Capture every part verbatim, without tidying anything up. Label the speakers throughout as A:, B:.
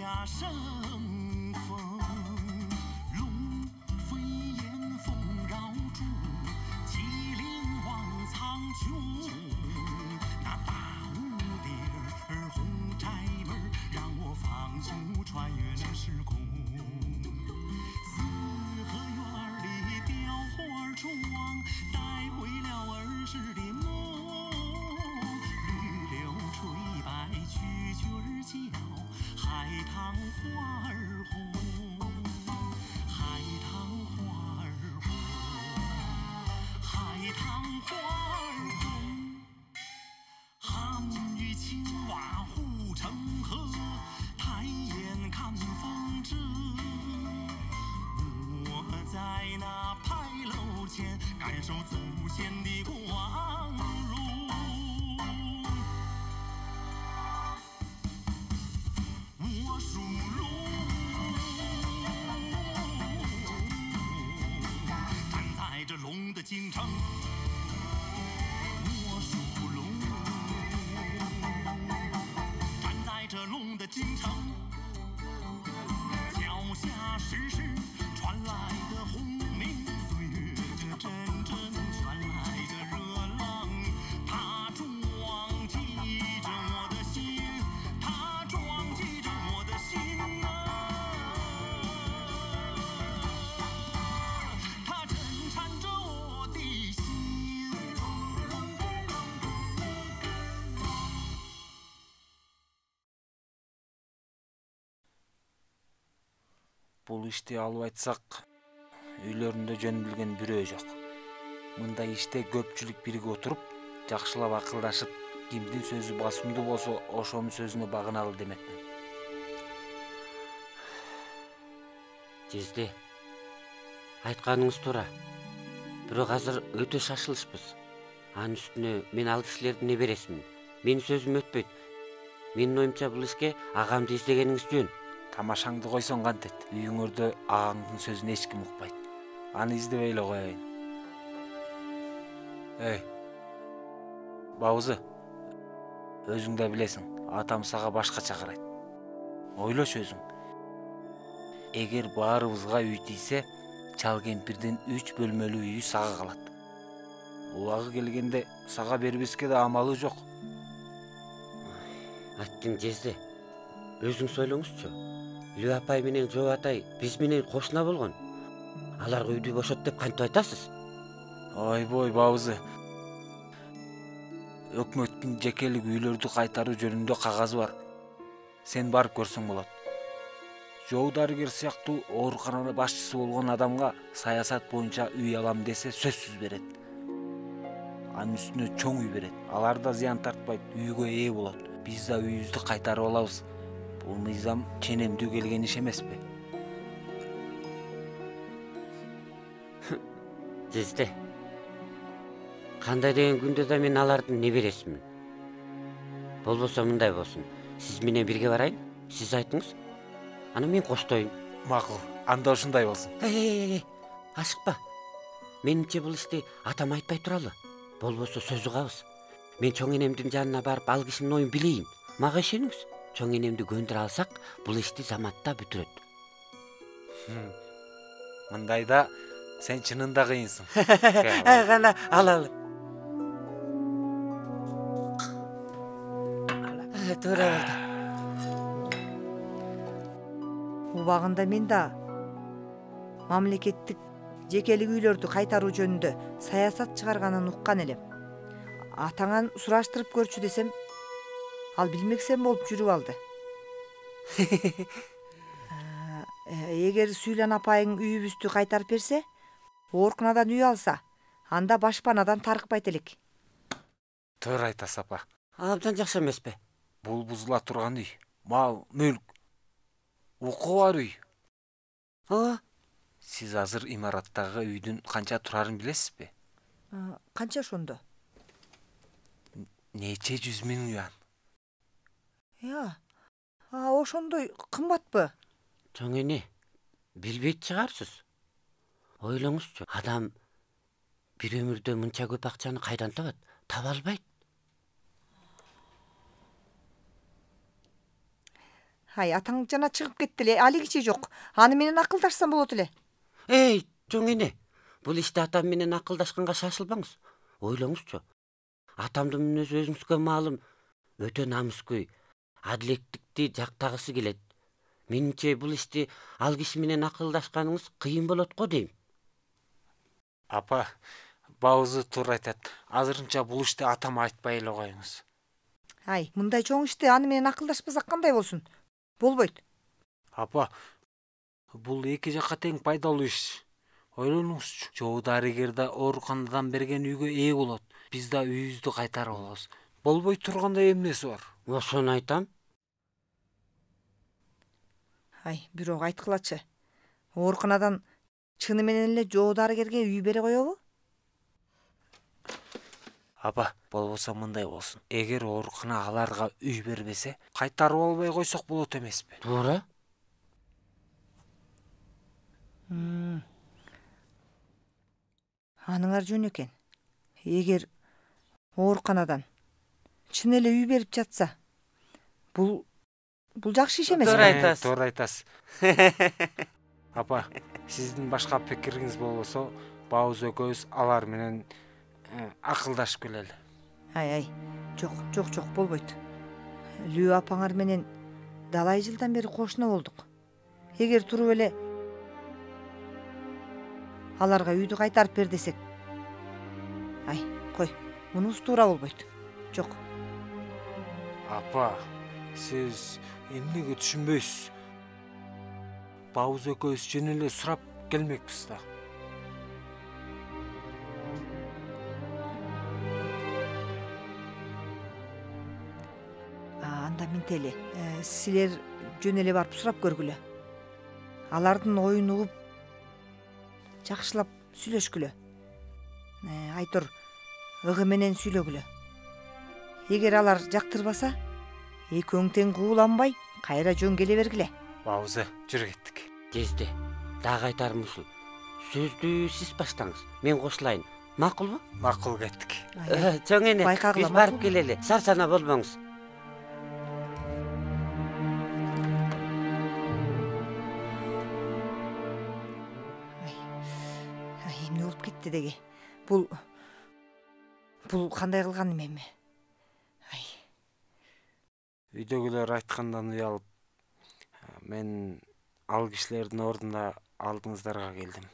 A: 呀生风，龙飞燕凤绕柱，麒麟望苍穹。那大屋顶儿红柴门，让我仿佛穿越了时空。四合院里雕花窗，带回了儿时的梦。绿柳垂白蛐蛐儿叫，海棠花儿红，海棠花儿红，海棠花儿红。汉与青蛙护城河，抬眼看风筝。我在那牌楼前，感受祖先的光荣。我属龙，站在这龙的京城。我属龙，站在这龙的京城。脚下时时传来的轰鸣，岁月这阵阵传来的热浪，它撞击着我的心，它撞击着我的心啊，它震颤着我的心。
B: Бул ишти алып айтсак, үйлөрүндө жөн билген бирөө жок. Мындай иште көпчүлүк биригип отуруп, жакшылап акылдашып, кимдин сөзү басымдуу болсо, ошонун сөзүнө багыналы демекмин.
C: Жезде, айтканыңыз туура. Бирок азыр өтө шашылышпыз. Анын үстүнө мен ал кишилердин небересимин. Менин сөзүм өтпөйт. Менин оюмча бул ишке агамды издегениңиз жөн.
B: Тамашаңды койсоң кантет? Үйүңөрдө агаңдын сөзүн эч ким укпайт. Аны издебей эле коеюн. Эй, Баузы, өзүң да билесиң, атам сага башкача карайт. Ойлош өзүң. Эгер баарыбызга үй тийсе, чал кемпирдин үч бөлмөлүү үйү сага калат. Убагы келгенде сага бербеске да амалы жок.
C: Аттың Жезде, өзүң сойлоңузчу. Лү апай менен Жоо атай биз менен кошуна болгон. Аларга үйдү бошот деп кантип айтасыз?
B: Ойбой, Баузы. Өкмөттүн жекелик үйлөрдү кайтаруу жөнүндө кагазы бар. Сен барып көрсөң болот. Жоо дарыгер сыяктуу ооруканада башчысы болгон адамга саясат боюнча үй алам десе сөзсүз берет. Анын үстүнө чоң үй берет. Алар да зыян тартпайт, үйгө ээ болот. Биз да үйүбүздү кайтарып алабыз. Бул мыйзам ченемдүү келген иш эмеспи?
C: Жезде, кандай деген күндө да мен алардын небересимин. Болбосо мындай болсун. Сиз менен бирге барайын. Сиз айтыңыз. Аны мен коштоюн.
B: Макул. Анда ушундай болсун.
C: Эй, ашыкпа. Менимче бул ишти атам айтпай туралы. Болбосо сөз угабыз. Мен чоң энемдин жанына барып ал кишинин оюн билейин. Мага ишениңиз. Чоң энемди көндүрө алсак, бул ишти заматта бүтүрөт.
B: Мындайда сен чынында кыйынсың.
C: Кана алалы. Туура болду.
D: Убагында мен да мамлекеттик жекелик үйлөрдү кайтаруу жөнүндө саясат чыгарганын уккан элем. Атаңан сураштырып көрчү десем, ал билмексем болуп жүрүп алды. Эгер Сүйлөн апайың үйүбүздү кайтарып берсе, оорукунадан үй алса, анда башпанадан тарыкпайт элек.
B: Туура айтасыз, апа.
C: Абдан жакшы эмеспи?
B: Бул бузула турган үй. Мал, мүлк. Укугу бар үй.
C: Ооба.
B: Сиз азыр имараттагы үйдүн канча турарын билесизби?
D: Канча ошондо?
B: Нече жүз миң юан.
D: Я, а ошондой кымбатпы?
C: Чоң эне, билбейт чыгарсыз. Ойлоңузчу, адам бир өмүрдө мынча көп акчаны кайдан табат? Таба албайт.
D: Ай, атаң жана чыгып кетти эле, али кичи жок. Аны менен акылдашсам болот эле.
C: Эй, чоң эне, бул иште атам менен акылдашканга шашылбаңыз. Ойлоңузчу. Атамдын мүнөзү өзүңүзгө маалым, өтө намыскөй, адилеттикти жактагысы келет. Менимче бул ишти ал киши менен акылдашканыңыз кыйын болот го дейм.
B: Апа, Баузы туура айтат. Азырынча бул ишти атама айтпай эле коюңуз.
D: Ай, мындай чоң ишти аны менен акылдашпасак кандай болсун? Болбойт.
B: Апа, бул эки жакка тең пайдалуу иш. Ойлонуңузчу. Жоо дарыгер да ооруканадан берген үйгө ээ болот. Биз да үйүбүздү кайтарып алабыз. Болбой тургандай эмнеси бар?
C: Ошону айтам.
D: Ай, бирок айткылачы. Ооруканадан чыны менен эле жоо дарыгерге үй бере коебу?
B: Апа, болбосо мындай болсун. Эгер оорукана аларга үй бербесе, кайтарып албай койсок болот эмеспи?
C: Туура.
D: Аныңар жөн экен. Эгер ооруканадан чын эле үй берип жатса, бул бул жакшы иш эмеспи?
C: Туура айтасыз.
B: Туура айтасыз. Апа, сиздин башка пикириңиз болбосо, Бауз экөөбүз алар менен акылдашып келели.
D: Ай, ай, жок, жок, жок, болбойт. Лүү апаңар менен далай жылдан бери кошуна болдук. Эгер туруп эле аларга үйдү кайтарып бер десек, ай, кой, мунусу туура болбойт. Жок.
B: Апа, сиз эмнеге түшүнбөйсүз? Бауз экөөбүз жөн эле сурап келмекпиз да.
D: Анда минтели, силер жөн эле барып сурап көргүлө. Алардын оюн угуп, жакшылап сүйлөшкүлө. Айтор, ыгы менен сүйлөгүлө. Эгер алар жактырбаса, экөөң тең кууланбай, кайра жөн келе бергиле.
B: Баузы, жүрүп кеттик.
C: Кезде. Дагы айтарым ушул. Сөздү сиз баштаңыз. Мен кошулайын. Макулбу?
B: Макул, кеттик.
C: Чоң эне,
D: Байкагыла,
C: биз барып
D: макулбу?
C: келели. Сарсана болбоңуз.
D: Эмне болуп кетти деги? Бул бул кандай кылганым эми? Ай.
B: Үйдөгүлөр айткандан уялып, мен ал кишилердин ордуна алдыңыздарга келдим.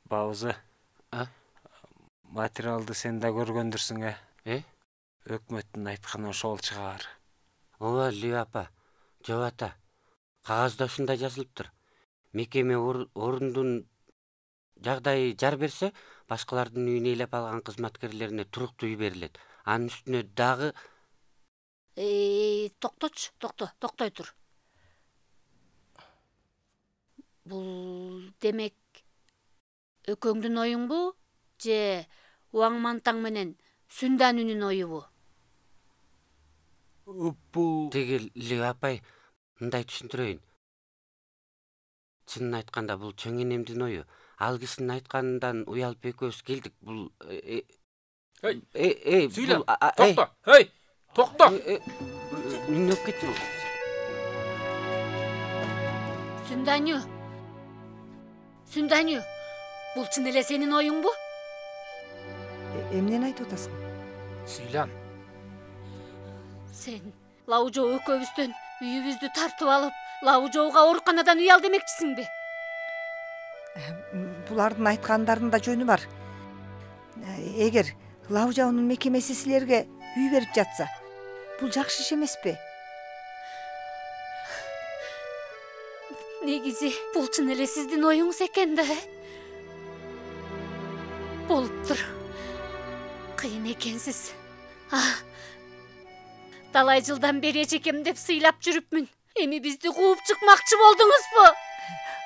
B: Баузы,
C: А?
B: материалды сен да көргөндүрсүң, э?
C: Э?
B: Өкмөттүн айтканы ошол чыгар.
C: Ооба, Лүү апа, жок ата. Кагазда ушундай жазылыптыр. Мекеме орундун жагдайы жар берсе, башкалардын үйүн ээлеп алган кызматкерлерине туруктуу үй берилет. Анын үстүнө дагы
E: Эй, токточу, токто, токтой тур. Бул демек экөөңдүн оюңбу, же Уаң Мантаң менен Сүнданүнүн оюбу?
B: Бул
C: Теги Лүү апай, мындай түшүндүрөйүн. Чынын айтканда бул чоң энемдин ою. Ал кишинин айтканынан уялып экөөбүз келдик. Бул Эй, эй,
F: Сүйлө.
C: бул а-
F: Токто. Эй, токто.
C: эй, эмне болуп кетти?
E: Сүнданү. Сүнданү. Бул чын эле сенин оюңбу?
D: Эмнени айтып атасың?
F: Сүйлөн.
E: Сен Лаужоо экөөбүздөн үйүбүздү тартып алып, Лаужоого ооруканадан үй ал демекчисиңби?
D: Булардын айткандарында жөнү бар. Эгер Лаужаонун мекемеси силерге үй берип жатса, бул жакшы иш эмеспи?
E: Негизи бул чын эле сиздин оюңуз экен да. Болуптур. Кыйын экенсиз. А, талай жылдан бери эжекем деп сыйлап жүрүпмүн. Эми бизди кууп чыкмакчы болдуңузбу?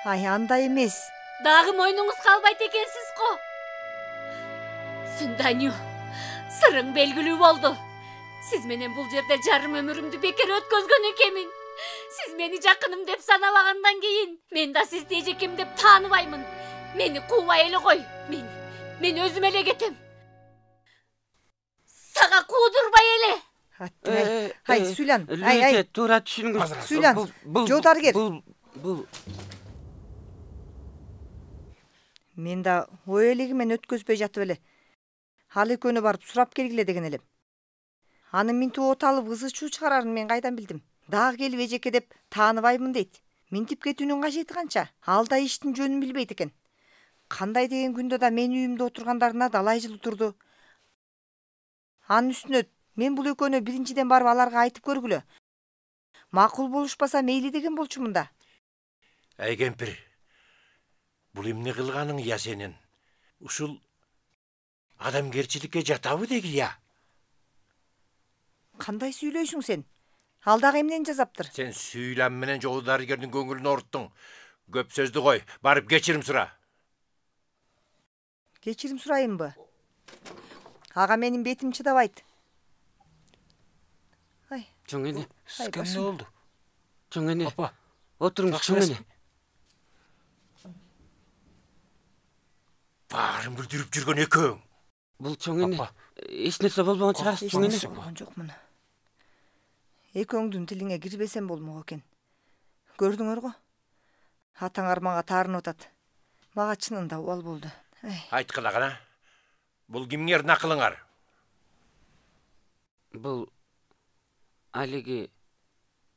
D: Ай, андай эмес.
E: Дагы мойнуңуз калбайт экенсиз го. Сүнданү, сырың белгилүү болду. Сиз менен бул жерде жарым өмүрүмдү бекер өткөзгөн экенмин. Сиз мени жакыным деп санабагандан кийин, мен да сизди эжекем деп тааныбаймын. Мени куубай эле кой. Мен мен өзүм эле кетем. Сага куудурбай эле.
D: Ай, ай, Сүйлан, ай, ай.
C: Туура түшүнүңүз.
D: Сүйлан, жоо дарыгер.
C: Бул, бул.
D: Мен да ой элегимен өткөзбөй жатып эле. Ал экөөнү барып сурап келгиле деген элем. Анын минтип от алып ызы чуу чыгарарын мен кайдан билдим? Дагы келип эжеке деп тааныбаймын дейт. Минтип кетүүнүн кажети канча? Ал да иштин жөнүн билбейт экен. Кандай деген күндө да менин үйүмдө отургандарына далай жыл турду. Анын үстүнө мен бул экөөнү биринчиден барып аларга айтып көргүлө. Макул болушпаса мейли деген болчумун да.
G: Ай кемпир, бул эмне кылганың я сенин? Ушул адамгерчиликке жатабы деги я?
D: Кандай сүйлөйсүң сен? Ал дагы эмнени жасаптыр?
G: Сен Сүйлан менен жоо дарыгердин көңүлүн оруттуң. Көп сөздү кой, барып кечирим сура.
D: Кечирим сурайынбы? Ага менин бетим чыдабайт. Ай,
C: Чоң эне,
B: Сизге эмне болду?
C: чоң эне.
B: Апа,
C: Отуруңуз, чоң эне.
G: Баарын бүлдүрүп жүргөн экөөң.
C: Бул чоң эне.
B: Апа.
C: Эч нерсе болбогон чыгарсыз, чоң эне.
D: болгон жокмун. Экөөңдүн тилиңе кирбесем болмок экен. Көрдүңөр го? Атаңар мага таарынып атат. Мага чынында убал болду.
G: Айткыла гана. Бул кимдердин акылыңар?
C: Бул алиги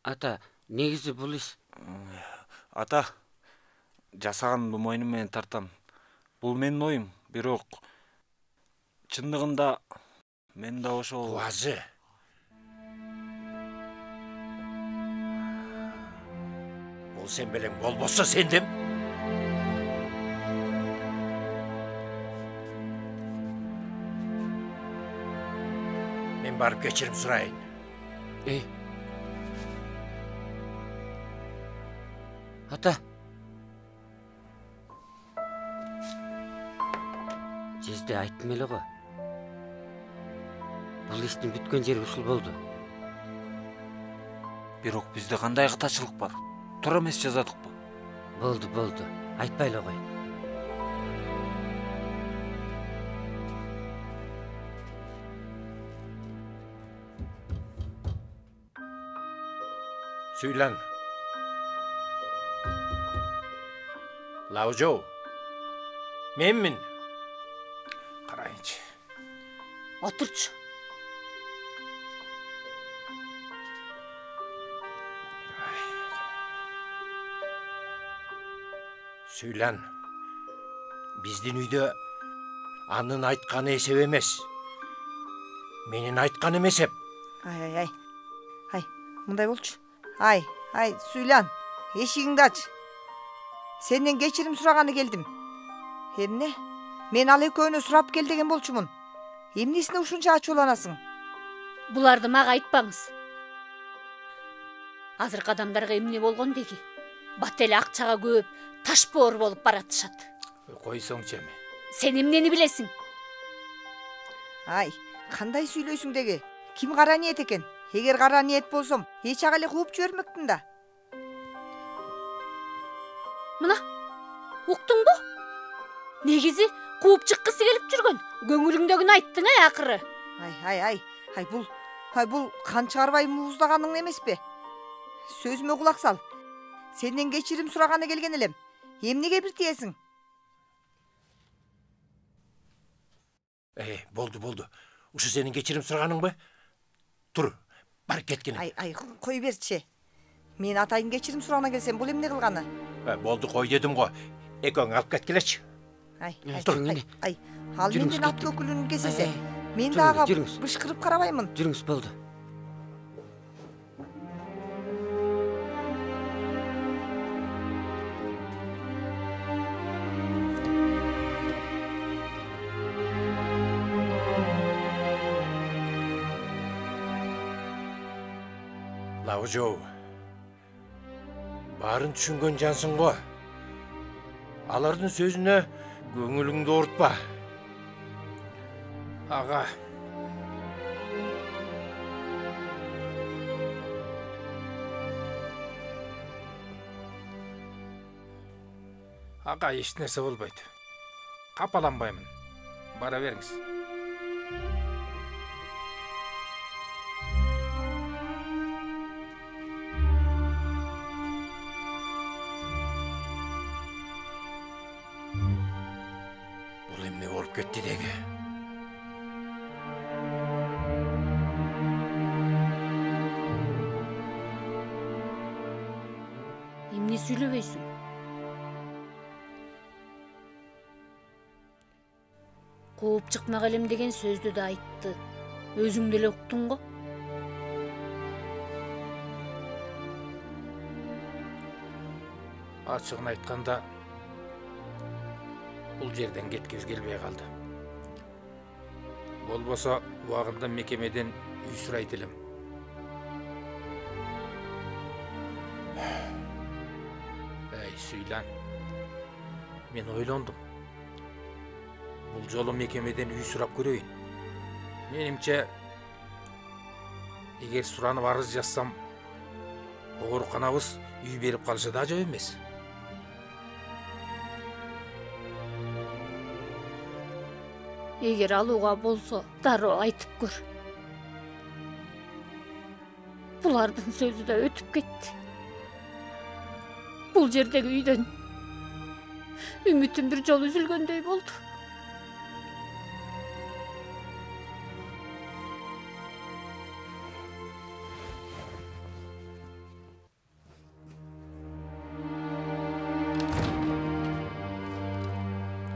C: ата, негизи бул иш
B: ата, жасаганымды мойнум менен тартам. Бул менин оюм, бирок чындыгында мен да ошол
G: Буазы. Бул сен белең болбосо сендим. Мен барып кечирим сурайын.
C: Эй. Ата. Жезде айттым эле го. Бул иштин бүткөн жери ушул болду.
B: бирок бизде кандай катачылык бар? Туура эмес жазадыкпы?
C: Болду, болду. Айтпай эле кой.
G: Сүйлан. Лаужоу. Менмин.
F: Карайынчы.
E: Отурчу.
G: Сүйлан. Биздин үйдө анын айтканы эсеп эмес. Менин айтканым эсеп.
D: Ай, ай, ай. Ай, мындай болчу. Ай, ай, Сүйлан, эшигиңди ач. Сенден кечирим сураганы келдим. Эмне? Мен ал экөөнү сурап кел деген болчумун. Эмнесине ушунча ачууланасың?
E: Буларды мага айтпаңыз. Азыркы адамдарга эмне болгон деги? Бат эле акчага көп, ташбоор болуп баратышат.
F: Койсоңчу эми.
E: Сен эмнени билесиң?
D: Ай, кандай сүйлөйсүң деги? Ким кара ниет экен? Эгер кара ниет болсом, эч ага эле кууп жибермекмин да.
E: Мына, уктуңбу? Негизи кууп чыккысы келип жүргөн. Көңүлүңдөгүнү айттың ай акыры.
D: Ай, ай, ай. Ай, бул, ай, бул кан чыгарбай мууздаганың эмеспи? Сөзүмө кулак сал. Сенден кечирим сураганы келген элем. Эмнеге бир тиесиң?
G: Э, болду, болду. Ушу сенин кечирим сураганыңбы? Тур, бар кеткине.
D: Ай, ай, кой берчи. Мен атайын кечирим сурагана келсем, бул эмне кылганы?
G: Э, болду, кой дедим го. Экөөң алып кеткилечи.
D: Ай, ай,
C: Тур.
D: ай, ай, ал
C: Жүрүңүз,
D: менден ат
C: кеттик.
D: көкүлүн кесесе,
C: Ай, ай,
D: мен
C: жүрүңүз,
D: дагы
C: жүрүңүз.
D: бышкырып карабаймын.
C: Жүрүңүз, болду.
G: Лаужоу. Баарын түшүнгөн жансың го. Алардын сөзүнө көңүлүңдү оорутпа.
F: Ага. Ага, эч нерсе болбойт. Капаланбаймын. Бара бериңиз.
G: Өтүп кетти деги.
E: Эмне сүйлөбөйсүң? Кууп чыкмак элем деген сөздү да айтты. Өзүң деле уктуң го.
F: Ачыгын айтканда бул жерден кеткибиз келбей калды. Болбосо убагында мекемеден үй сурайт элем. Эй, Сүйлан. Мен ойлондум. Бул жолу мекемеден үй сурап көрөйүн. Менимче, эгер суранып арыз жазсам, ооруканабыз үй берип калышы да жок эмес.
E: Эгер алууга болсо, дароо айтып көр. Булардын сөзү да өтүп кетти. Бул жердеги үйдөн үмүтүм бир жолу үзүлгөндөй болду.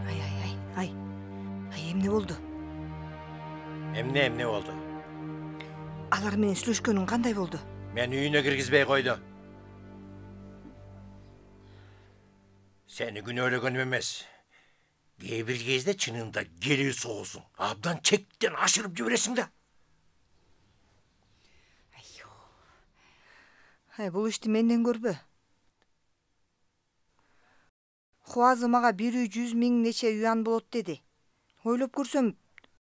D: Ай, ай, ай, ай. Ай, эмне болду?
G: Эмне эмне болду?
D: Алар менен сүйлөшкөнүң кандай болду?
G: Мен үйүнө киргизбей койду. Сени күнөөлөгөнүм эмес. Кээ бир кезде чынында келүү соосуң. Абдан чектен ашырып жибересиң да.
D: Ай, бул ишти менден көрбө. Хуазы мага бир үй жүз миң нече юан болот деди. Ойлоп көрсөм,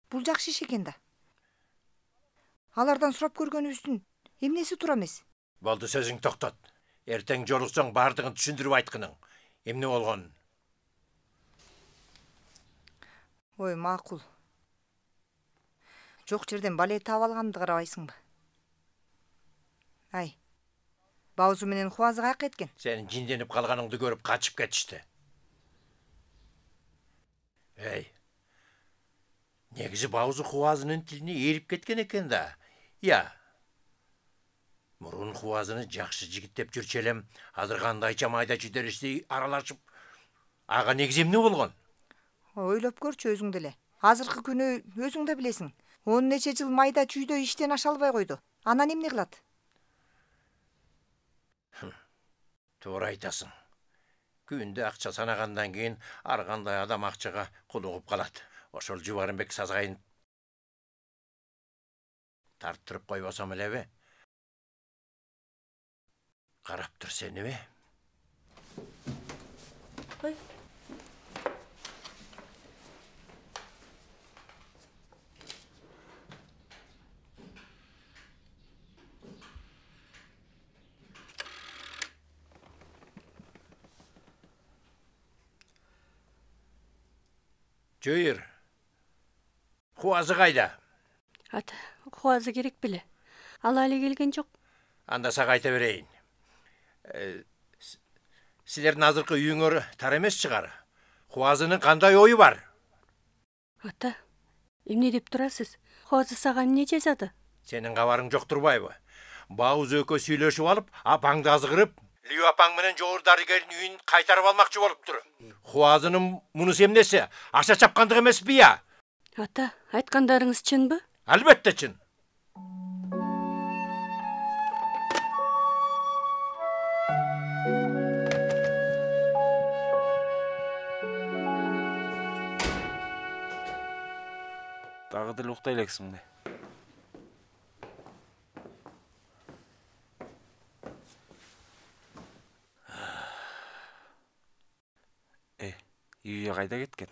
D: бул жакшы иш экен да. Алардан сурап көргөнүбүздүн эмнеси туура эмес?
G: Болду, сөзүң токтот. Эртең жолуксоң бардыгын түшүндүрүп айткының. Эмне болгон?
D: Ой, макул. Жок жерден бале таап алганымды карабайсыңбы? Ай, Баузу менен Хуазы каяка кеткен?
G: Сенин жинденип калганыңды көрүп качып кетишти. Эй, негизи Баузу Хуазынын тилине эрип кеткен экен да. Я. Мурун Хуазыны жакшы жигит деп жүрчү элем, азыр кандайча майда чүйдөрүштү аралашып. Ага негизи эмне болгон?
D: Ойлоп көрчү өзүң деле. Азыркы күнү өзүң да билесиң. он нече жыл майда чүйдө иштен аша албай койду. Анан эмне кылат?
G: Туура айтасың. Күндө акча санагандан кийин ар кандай адам акчага кулугуп калат. Ошол Жубарымбек сазгайын тарттырып койбосом элеби? Карап тур сеними?
E: Ой.
G: Жүйүр. Хуазы кайда?
H: Ата, Хуазы керек беле. Ал али келген жок.
G: Анда сага айта берейин. Силердин азыркы үйүңөр тар эмес чыгар. Хуазынын кандай ою бар?
H: Ата, эмне деп турасыз? Хуазы сага эмне жазады?
G: Сенин кабарың жок турбайбы? Бауз экөө сүйлөшүп алып, апаңды азгырып, Лю апаң менен жогору дарыгердин үйүн кайтарып алмакчы болуптур. Хуазынын мунусу эмнеси? Аша чапкандык эмеспи я?
H: Ата, айткандарыңыз чынбы?
G: Албетте чын.
B: Дагы деле уктай элексиңби? Э, үйгө кайда кеткен?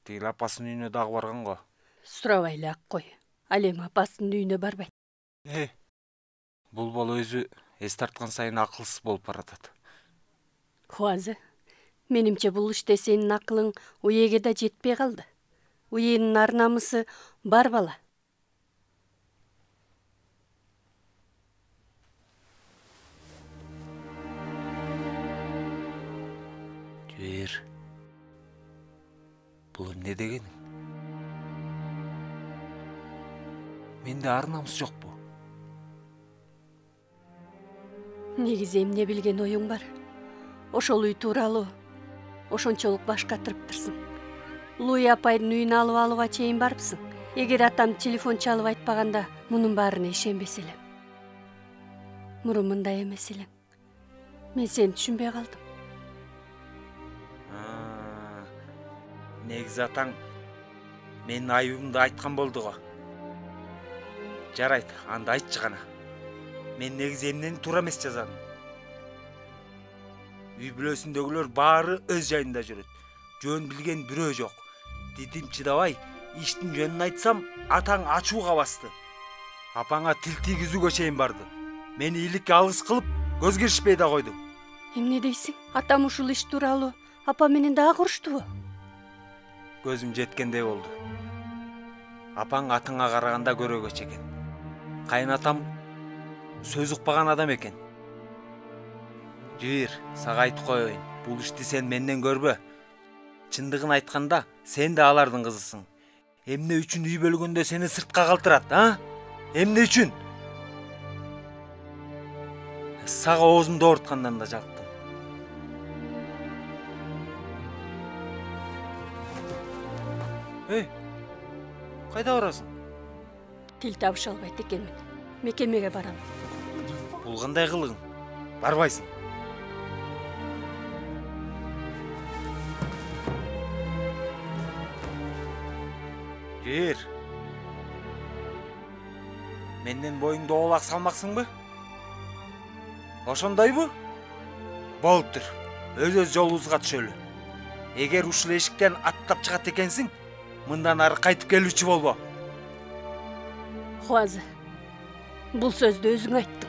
B: Тигил апасынын үйүнө дагы барган го.
H: Сурабай эле ак кой. Ал эми апасынын үйүнө барбайт.
B: Э, бул бала өзү эс тарткан сайын акылсыз болуп баратат.
H: Хуазы, менимче бул иште сенин акылың уеге да жетпей калды. Уенин ар намысы бар бала.
B: Жүйүр. Бул эмне дегениң? Менде ар намыс жокпу?
H: Негизи эмне билген оюң бар? Ошол үй тууралуу ошончолук баш катырыптырсың. Луи апайдын үйүн алып алууга чейин барыпсың. Эгер атам телефон чалып айтпаганда мунун баарына ишенбес элем. Мурун мындай эмес элең. Мен сени түшүнбөй калдым.
B: Негизи атаң менин айыбымды айткан болду го. Жарайт, анда айтчы гана. Мен негизи эмнени туура эмес жазадым. Үй бүлөсүндөгүлөр баары өз жайында жүрөт. Жөн билген бирөө жок. Дидим чыдабай, иштин жөнүн айтсам, атаң ачууга басты. Апаңа тил тийгизүүгө чейин барды. Мени ийгиликке алгыс кылып, көз киришпей да койду.
H: Эмне дейсиң? Атам ушул иш тууралуу апа менен дагы уруштубу?
B: Көзүм жеткендей болду. Апаң атыңа караганда көрөгөч экен. Кайынатам сөз укпаган адам экен. Жир, сага айтып коеюн. Бул ишти сен менден көрбө. Чындыгын айтканда, сен да алардын кызысың. Эмне үчүн үй бөлгөндө сени сыртка калтырат, а? Эмне үчүн? Сага оозумду ооруткандан да жалктым. Эй, кайда барасың?
H: Тил табыша албайт экенмин. Мекемеге барам.
B: Бул кандай кылыгың? Барбайсың. Жир. Менден боюңду оолак салмаксыңбы? Ошондойбу? Болуптур. Өз-өз жолубузга түшөлү. Эгер ушул эшиктен аттап чыгат экенсиң, мындан ары кайтып келүүчү болбо.
H: Хуазы, бул сөздү өзүң айттың.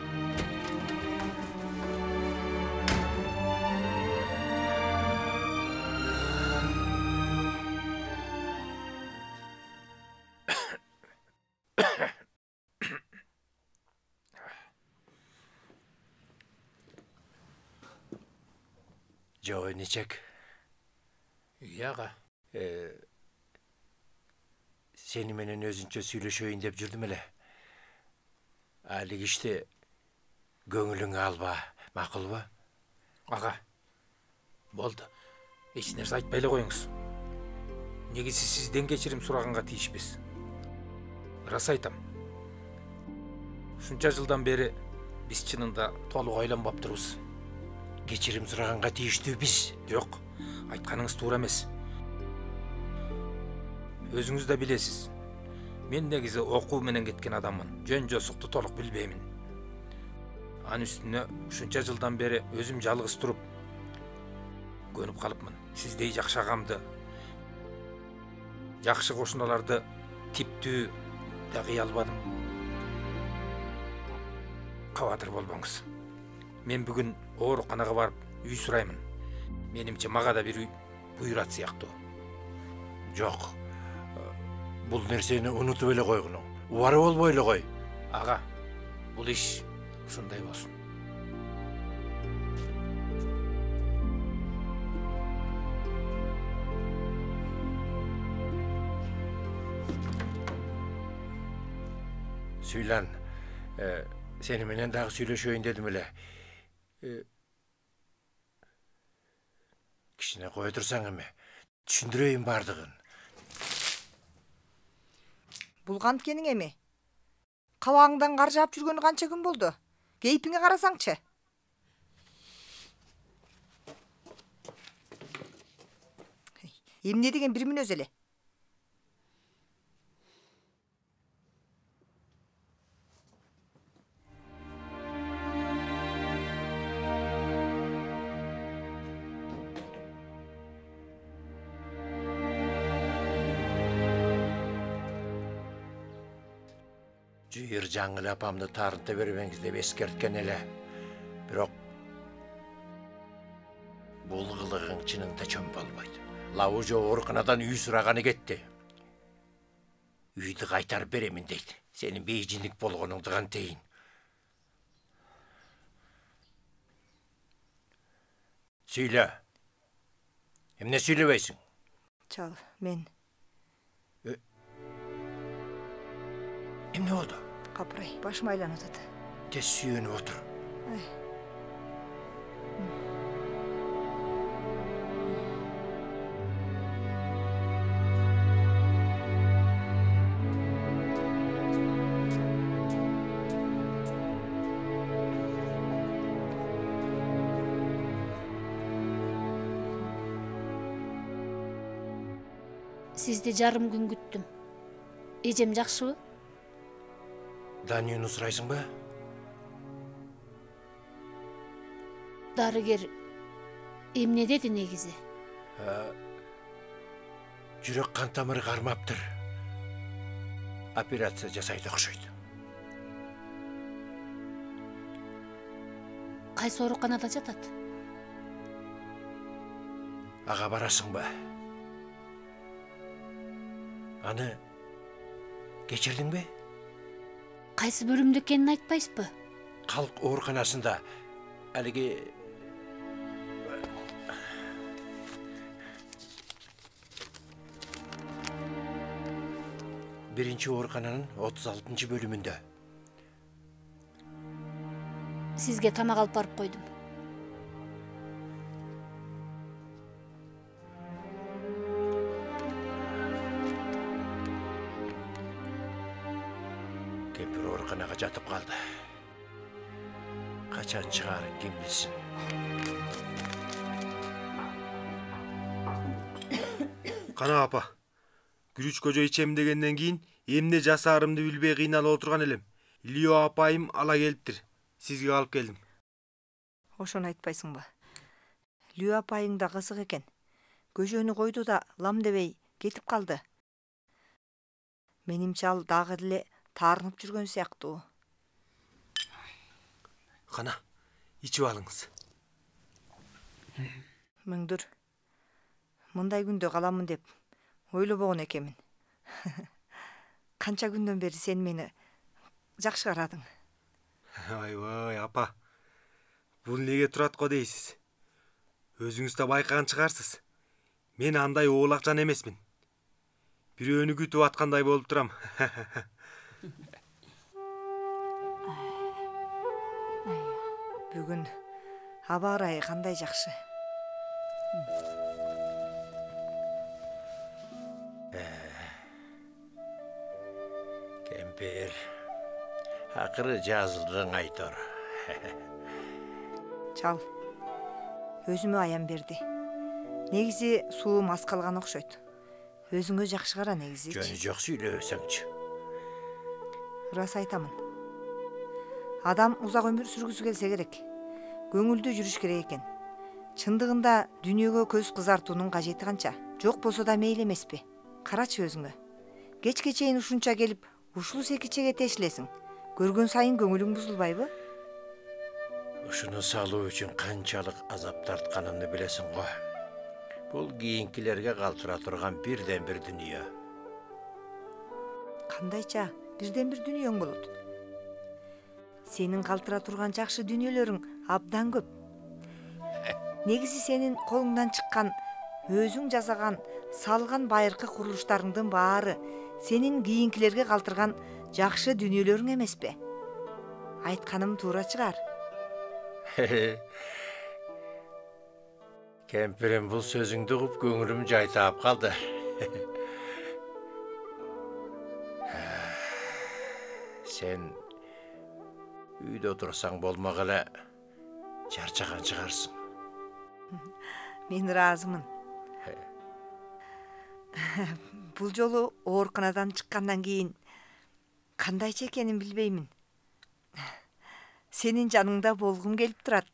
G: Жоо нечек?
F: Ага.
G: Сени менен өзүнчө сүйлөшөйүн деп жүрдүм эле. Али кишти көңүлүңө алба, макулбу?
F: Ага. Болду. Эч нерсе айтпай эле коюңуз. Негизи сизден кечирим сураганга тийишпиз. Рас айтам. Ушунча жылдан бери биз чынында толук ойлонбоптурбуз.
G: Кечирим сураганга тийиштүүбүз.
F: Жок, айтканыңыз туура эмес. Өзүңүз да билесиз. Мен негизи окуу менен кеткен адаммын. Жөн жосукту толук билбеймин. Анын үстүнө ушунча жылдан бери өзүм жалгыз туруп көнүп калыпмын. Сиздей жакшы агамды, жакшы кошуналарды типтүү да кыя албадым. Кабатыр болбоңуз. Мен бүгүн ооруканага барып үй сураймын. Менимче мага да бир буйрат сыяктуу.
G: Жок. Бул нерсени унутуп эле койгуну. Убары болбой эле кой.
F: Ага, бул иш ушундай болсун.
G: Сүйлан, сени менен дагы сүйлөшөйүн дедим эле. Кичине кое турсаң эми, түшүндүрөйүн бардыгын.
D: Бул канткениң эми? Кабагыңдан кар жаап жүргөнү канча күн болду? Кейпиңе карасаңчы. Эмне деген бир мүнөз эле?
G: Жыйыр жаңыл апамды тарынта бербеңиз деп эскерткен эле. Бирок бул кылыгың чынында чөм болбойт. Лаужо ооруканадан үй сураганы кетти. Үйдү кайтарып беремин дейт. Сенин бейжиндик болгонуңду кантейин. Сүйлө. Эмне сүйлөбөйсүң?
D: Чал, мен
G: Эмне болду?
D: Капырай, башым айланып атат.
G: Тез сүйөнүп отур.
E: Сизди жарым күн күттүм. Эжем жакшыбы?
G: Данияны сурайсыңбы?
E: Дарыгер эмне деди негизи?
G: Жүрөк кан тамыры кармаптыр. Операция жасайды окшойт.
E: Кайсы ооруканада жатат?
G: Ага барасыңбы? Аны кечирдиңби?
E: Кайсы бөлүмдө экенин айтпайсызбы?
G: Калк ооруканасында. Алиги биринчи оорукананын отуз алтынчы бөлүмүндө.
E: Сизге тамак алып барып койдум.
G: Кемпир ооруканага жатып калды. Качан чыгарын ким билсин.
I: Кана апа. Күрүч кожо ичем дегенден кийин эмне жасаарымды билбей кыйналып отурган элем. Лио апайым ала келиптир. Сизге алып келдим.
D: Ошону айтпайсыңбы? Лио апайың да кызык экен. Көжөнү койду да лам дебей кетип калды. Менимче ал дагы деле таарынып жүргөн сыяктуу.
I: Кана, ичип алыңыз.
D: Мөңдүр. Мындай күндө каламын деп ойлобогон экенмин. Канча күндөн бери сен мени жакшы карадың.
I: Айбай, апа. Бул неге турат го дейсиз? Өзүңүз да байкаган чыгарсыз. Мен андай оолакчан эмесмин. Бирөөнү күтүп аткандай болуп турам.
D: Бүгүн аба ырайы кандай жакшы.
G: Кемпир, акыры жазылдың айтор.
D: Чал, өзүмө аян берди. Негизи суум аз калган окшойт. Өзүңө жакшы кара негизи.
G: Жөнү жок сүйлөсөңчү.
D: Ырас айтамын. Адам узак өмүр сүргүсү келсе керек. Көңүлдүү жүрүш керек экен. Чындыгында дүйнөгө көз кызартуунун кажети канча? Жок болсо да мейли эмеспи? Карачы өзүңө. Кечке чейин ушунча келип, ушул секичеге тешилесиң. Көргөн сайын көңүлүң бузулбайбы?
G: Ушуну салуу үчүн канчалык азап тартканымды билесиң го. Бул кийинкилерге калтыра турган бирден бир дүнүйө.
D: Кандайча бирден бир дүнүйөң болот? Сенин калтыра турган жакшы дүнүөлөрүң абдан көп. Негизи сенин колуңдан чыккан, өзүң жасаган, салган байыркы курулуштарыңдын баары сенин кийинкилерге калтырган жакшы дүнүөлөрүң эмеспи? Айтканым туура чыгар.
G: Кемпирим бул сөзүңдү угуп көңүлүм жайтаап калды. Сен үйдө отурсаң болмок эле чарчаган чыгарсың.
D: Мен ыраазымын. Бул жолу ооруканадан чыккандан кийин кандайча экенин билбеймин. Сенин жаныңда болгум келип турат.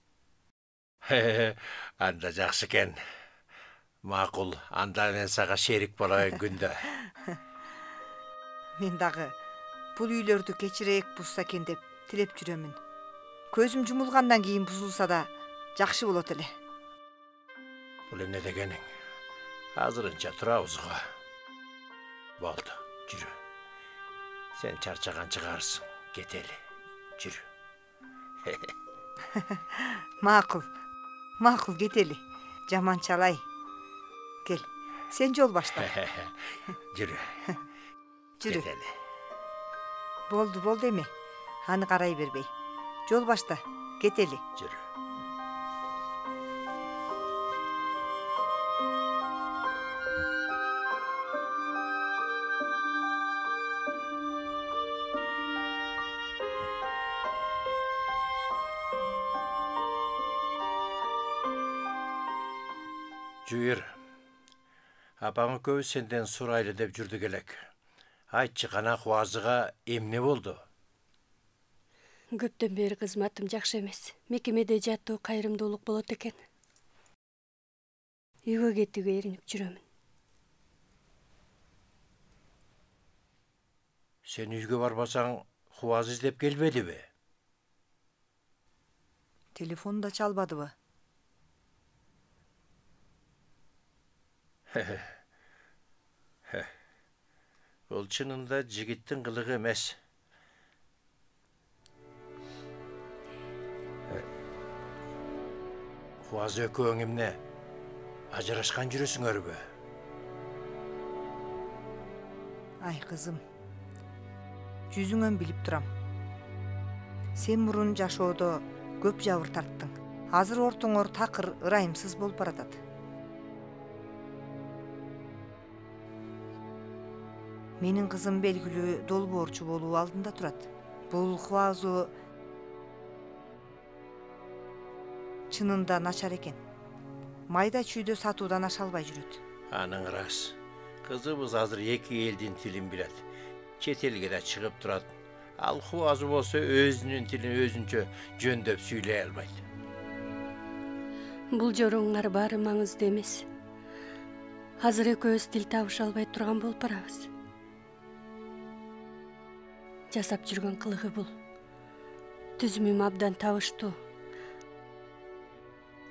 G: Анда жакшы экен. Макул, анда мен сага шерик болоюн күндө.
D: Мен дагы бул үйлөрдү кечирээк бузса экен деп тилеп жүрөмүн. Көзүм жумулгандан кийин бузулса да жакшы болот эле.
G: Бул эмне дегениң? Азырынча турабыз го. Болду, жүрү. Сен чарчаган чыгарсың. Кетели. Жүрү.
D: Макул. Макул, кетели. Жаманчалай. Кел. Сен жол башта.
G: Жүрү.
D: Жүрү.
G: Кетели.
D: Болду, болду эми. Аны карай бербей. Жол башта, кетели.
G: Жүр. Жүйір, апаң экөөбүз сенден сурайлы деп жүрдүк элек. Айтчы кана Кубазыга эмне болду?
H: Көптөн бери кызматым жакшы эмес. Мекемеде жаттуу кайрымдуулук болот экен. Үйгө кетүүгө эринип жүрөмүн.
G: Сен үйгө барбасаң, Кубазы издеп келбедиби?
D: Телефон да чалбадыбы?
G: Бул чынында жигиттин кылыгы эмес. Кубазы экөөң эмне? Ажырашкан жүрөсүңөрбү?
D: Ай кызым, жүзүңөн билип турам. Сен мурун жашоодо көп жабыр тарттың. Азыр ортоңор такыр, ырайымсыз болуп баратат. Менин кызым белгилүү долбоорчу болуу алдында турат. Бул Кубазы чынында начар экен. Майда чүйдө сатуудан аша албай жүрөт.
G: Аның рас. Кызыбыз азыр эки элдин тилин билет. Чет элге да чыгып турат. Ал Кубазы болсо өзүнүн тилин өзүнчө жөндөп сүйлөй албайт.
H: Бул жоруңар баары маңызды эмес. Азыр экөөбүз тил табыша албай турган болуп барабыз. Жасап жүргөн кылыгы бул. Түзүмүм абдан табыштуу.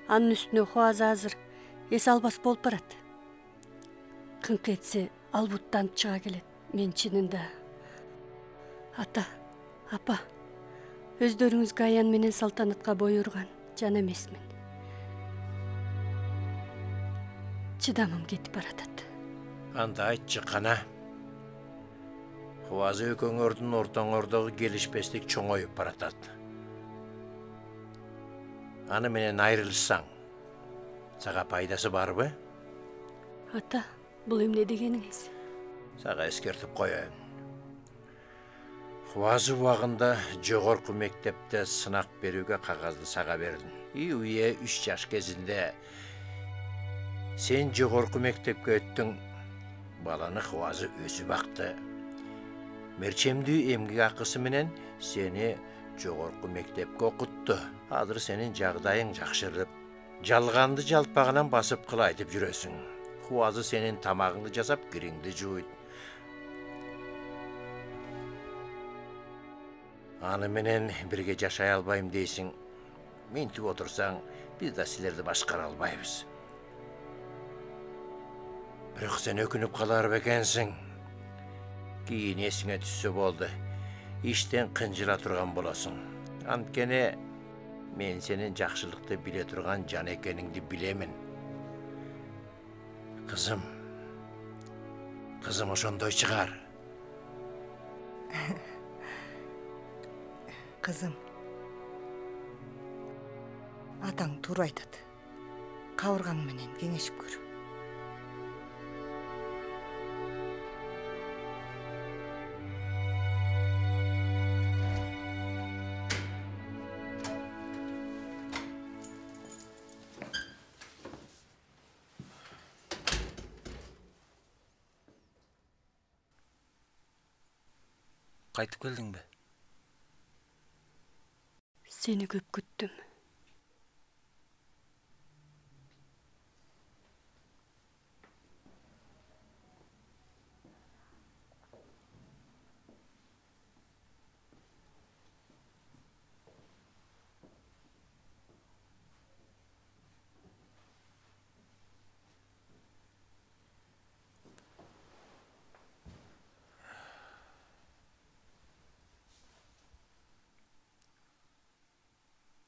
H: Анын үстүнө Кубазы азыр эс албас болуп барат. Кыңк этсе албуттанып чыга келет. Мен чынында ата, апа, өздөрүңүзгө аян менен салтанатка буйрган жан эмесмин. Чыдамым кетип баратат.
G: Анда айтчы кана. Кубазы экөөңөрдүн ортоңордогу келишпестик чоңоюп баратат. Аны менен айрылышсаң, сага пайдасы барбы?
H: Ата, бул эмне дегениңиз?
G: Сага эскертип коеюн. Кубазы убагында жогорку мектепте сынак берүүгө кагазды сага бердим. И уе үч жаш кезинде сен жогорку мектепке өттүң. Баланы Кубазы өзү бакты. Мерчемдүү эмгек акысы менен сени жогорку мектепке окутту. Азыр сенин жагдайың жакшырып, жалганды жалпагынан басып кыл айтып жүрөсүң. Кубазы сенин тамагыңды жасап, кириңди жууйт. Аны менен бирге жашай албайм дейсиң. Мынтип отурсаң, биз да силерди башкара албайбыз. Бирок сен өкүнүп калар бекенсиң. Кийин эсиңе түссө болду. Иштен кынжыла турган болосуң. Анткени мен сенин жакшылыкты биле турган жан экениңди билемин. Кызым. Кызым ошондой чыгар.
D: Кызым. Атаң туура айтат. Кабыргаң менен кеңешип көр.
B: Кайтып келдиңби?
H: Сени көп күттүм.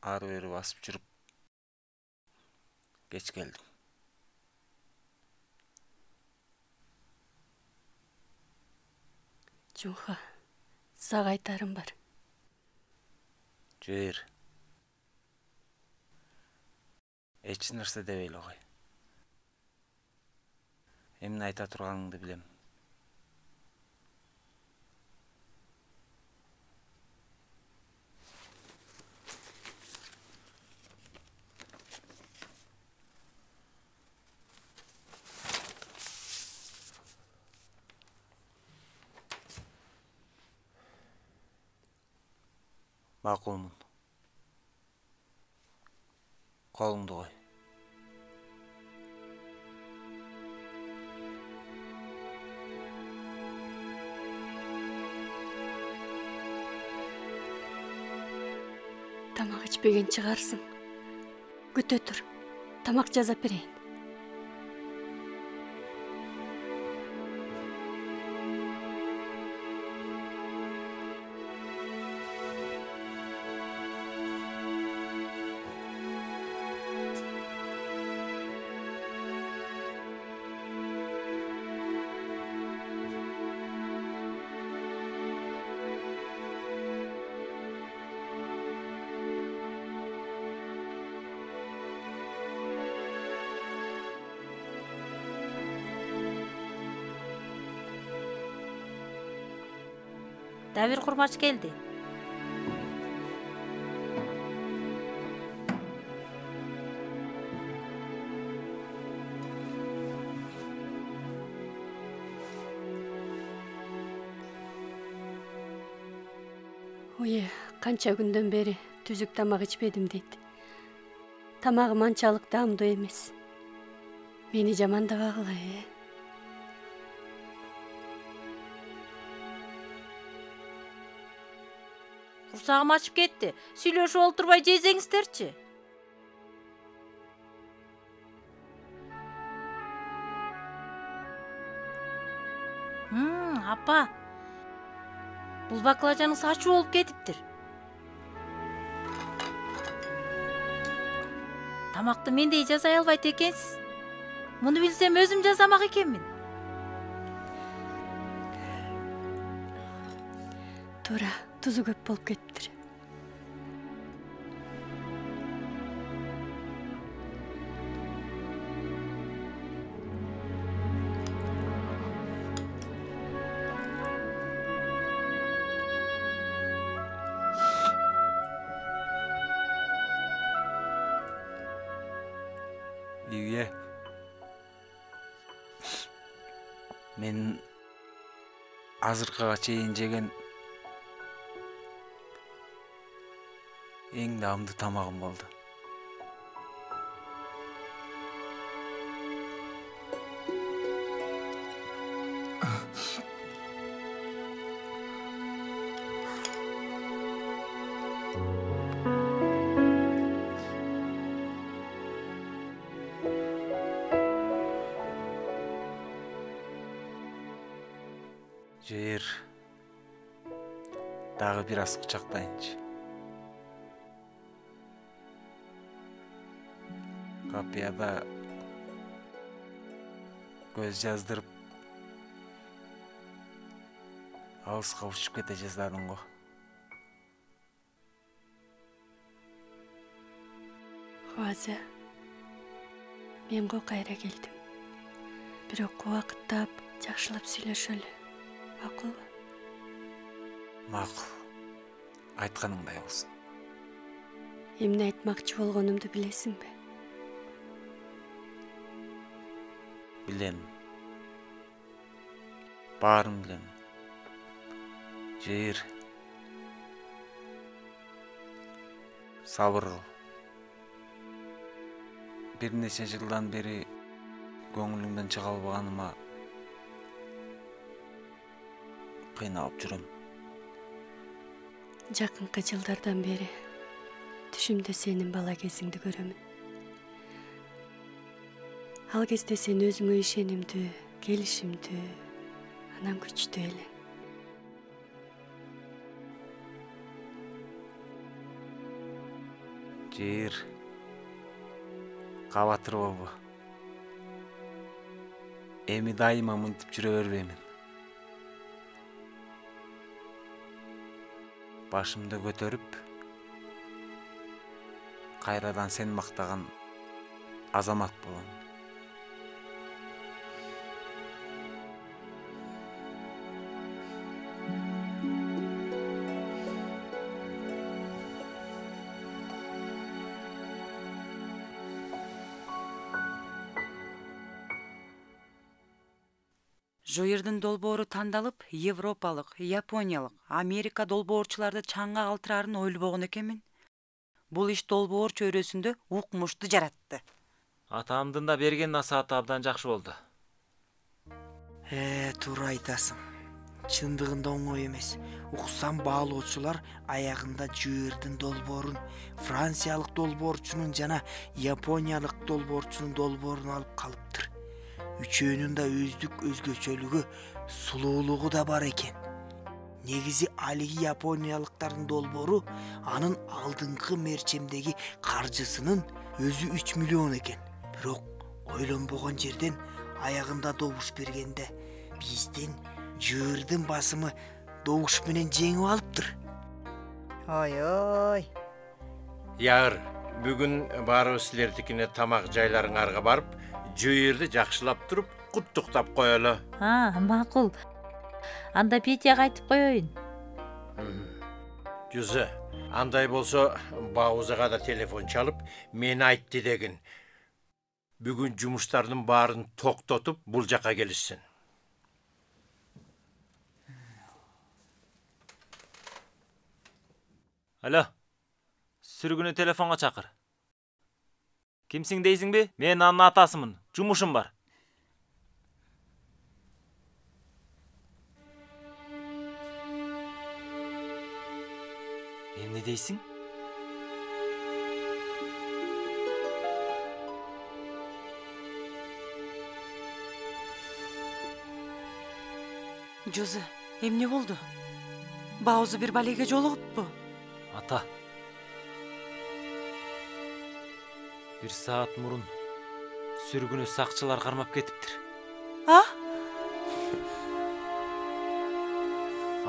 B: Ары бери басып жүрүп кеч келдим.
H: Жунха, Сага айтарым бар.
B: Жер. Эч нерсе дебей эле кой. Эмне айта турганыңды билем. Макулмун. Колуңду кой.
H: Тамак ичпеген чыгарсың. Күтө тур. Тамак жасап берейин.
J: Давир курмач келди.
H: Уе, канча күндөн бери түзүк тамак ичпедим дейт. Тамагым анчалык даамдуу эмес. Мени жамандабагыла, э.
J: Курсагым ачып кетти. Сүйлөшүп олтурбай жесеңиздерчи. Хм, апа. Бул баклажаныңыз ачуу болуп кетиптир. Тамакты мендей жасай албайт экенсиз. Муну билсем өзүм жасамак экенмин.
H: Туура, тузу көп болуп кетиптир.
B: Үйе. Мен азыркыга чейин жеген эң даамдуу тамагым болду. Жер. Дагы бир аз кучактайынчы. Капияда көз жаздырып алыска учуп кете жаздадың го.
H: Хуаза, мен го кайра келдим. Бирок убакыттап, жакшылап сүйлөшөлү. Макулбу?
B: Макул. Айтканыңдай болсун.
H: Эмне айтмакчы болгонумду билесиңби?
B: Билем. Баарын билем. Жер. Сабыр кыл. Бир нече жылдан бери көңүлүмдөн чыга албаганыма кыйналып жүрөм.
H: Жакынкы жылдардан бери түшүмдө сенин бала кезиңди көрөмүн. Ал кезде сен өзүңө ишенимдүү, келишимдүү, анан күчтүү элең.
B: Жер. Кабатыр болбо. Эми дайыма мынтип жүрө бербеймин. башымды көтөрүп кайрадан сен мактаган азамат болом.
K: Жоердин долбоору тандалып, Европалык, Япониялык, Америка долбоорчуларды чаңга калтырарын ойлобогон экенмин. Бул иш долбоор чөйрөсүндө укмушту жаратты.
B: Атамдын да берген насааты абдан жакшы болду.
L: Э, туура айтасың. Чындыгында оңой эмес. Уксам баалоочулар аягында Жоердин долбоорун, Франциялык долбоорчунун жана Япониялык долбоорчунун долбоорун алып калыптыр. Үчөөнүн да өздүк өзгөчөлүгү, сулуулугу да бар экен. Негизи алиги япониялыктардын долбоору анын алдыңкы мерчемдеги каржысынын өзү үч миллион экен. Бирок ойлонбогон жерден аягында добуш бергенде биздин Жоердин басымы добуш менен жеңип алыптыр.
D: Ой-ой.
G: Ягыр, бүгүн баарыбыз силердикине тамак жайларыңарга барып, Жоерди жакшылап туруп, куттуктап коелу.
J: А, макул. Анда Петяга айтып коеюн.
G: Жүзү, андай болсо Баузага да телефон чалып, мени айтты деген. Бүгүн жумуштардын баарын токтотуп, бул жака келишсин.
B: Алло. Сүргүнү телефонго чакыр. Кимсиң дейсиңби? Мен анын атасымын. Жумушум бар. Эмне дейсиң?
K: Жозе, эмне болду? Баузу бир балеге жолугуппу?
B: Ата. Бир саат мурун сүргүнү сакчылар кармап кетиптир.
K: А?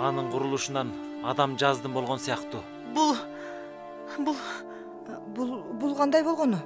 B: Анын курулушунан адам жаздым болгон сыяктуу.
K: Бул бул
D: Бул бул кандай болгону?